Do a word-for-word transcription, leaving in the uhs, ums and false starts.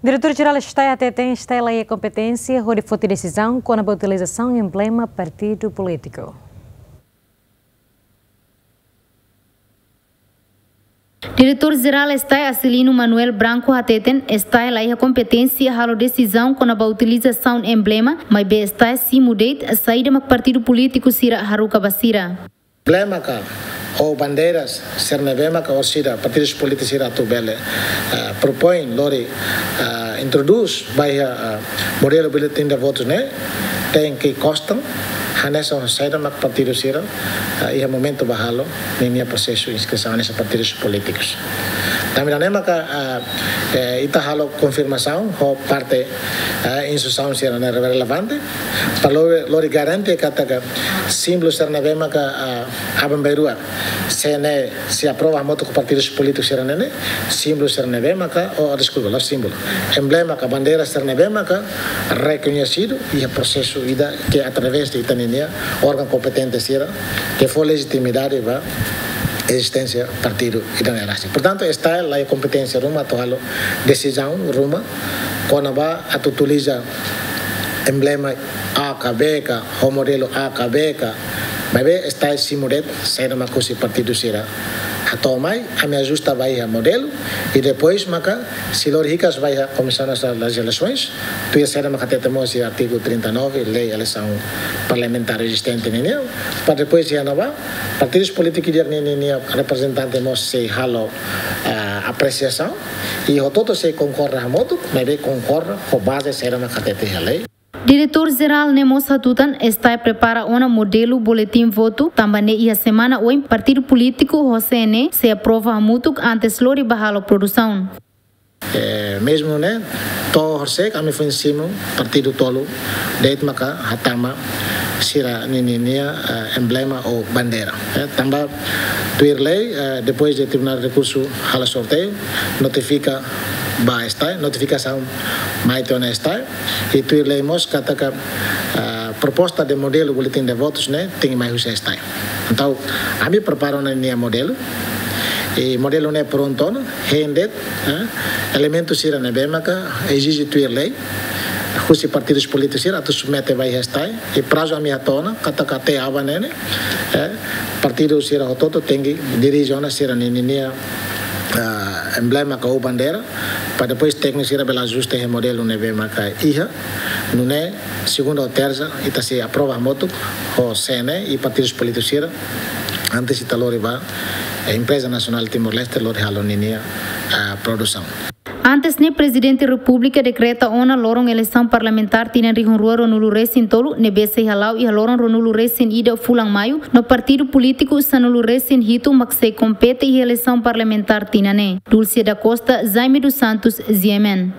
Diretór Jerál STAE hateten STAE laiha kompeténsia hodi foti desizaun kona-ba utilizasaun emblema partidu polítiku. Diretór Jerál STAE Acilino Manuel Branco hateten STAE laiha kompeténsia halo desizaun kona-ba utilizasaun emblema, maibé STAE simu de'it saida mak partidu polítiku sira haruka ba sira. Emblema ka ou bandeiras sira ne'ebé maka orsida partidu polítiku sira atu bele, eh, propoin lori, eh, introdús ba iha, eh, modelu boletin de votus ne'e, tenke kostan hanesan saida mak partidu sira, eh, iha momentu ba halo ninia prosesu inskrisaun hanesan partidu polítikus. Tanba ne'e maka, eh, eh, ita halo konfirmasaun ho parte, eh, instituisaun sira ne'ebé relevante, para lori, lori garante katak símbolu sira ne'ebé maka, ah, aban-bainrua, se ne'e sei aprova hamutuk ho partidu polítiku sira ne'e, símbolu sira ne'ebé maka, oh, deskulpa, la'ós símbolu, emblema ka bandeira sira ne'ebé maka rekoñesidu iha prosesu ida ke através de ita ninia órgaun kompetente sira ke fó lejitimidade ba ezisténsia partidu ida-ne'e rasik. Portantu, STAE laiha kompeténsia ruma atu halo desizaun ruma kona-ba atu utiliza emblema A ka B ka, ho modelu A ka B ka. Maibé STAE simu de'it saida mak husi partidu sira hato'o mai, ami ajusta ba iha modelu, i depois maka sei lori hikas ba iha Comissão Nacional das Eleições, tuir saida mak hatete mós iha artigu trinta e nove, lei eleisaun parlamentár ezistente nian, para depois iha ne'ebá partidu polítiku di'ak ninia reprezentante mós sei halo, ah, apresiasaun, i hotu-hotu sei konkorda hamutuk, maibé konkorda ho baze saida mak hatete iha lei. Diretór Jerál ne'e mós hatutan STAE prepara ona modelu boletin votu, tanba ne'e iha semana oin partidu polítiku ho CNE sei aprova hamutuk antes lori ba halo produsaun. Eh, mezmu ne'e, to'o horisehik ami foin simu partidu tolu de'it maka hatama sira ninia, eh, emblema ou bandeira. Eh, tanba tuir lei, eh, depois de Tribunál Rekursu halo sorteiu, notifika ba STAE, notifikasaun mai to'o ona STAE, i tuir lei mós katak, eh, proposta de modelu boletin de votus ne'e tenke mai husi STAE. Entaun, ami prepara ona ninia modelu, i modelu ne'e prontu ona, hein de'it, eh, elementu sira ne'ebé maka ezije tuir lei husi partidu polítiku sira atu submete ba iha STAE, i prazu ami hato'o ona katak até aban ne'e, eh, partidu sira hotu-hotu tenke dirije ona sira ninia, ah, emblema ka ou bandeira, para depois tékniku sira bele ajusta iha modelu ne'ebé maka iha, nune'e segunda ou tersa ita sei aprova hamutuk ho CNE i partidu polítiku sira, antes ita lori ba, eh, Empreza Nasionál Timor-Leste lori halo ninia, ah, produsaun. Antes ne'e, Prezidente Repúblika dekreta ona loron eleisaun parlamentár tinan rihun rua ruanulu resin tolu, ne'ebé sei hala'o iha loron ruanulu resin ida fulan Maiu, no partidu polítiku sanulu resin hitu mak sei kompete iha eleisaun parlamentár tinan ne'e. Dulce da Costa, Jaime dos Santos, G M N.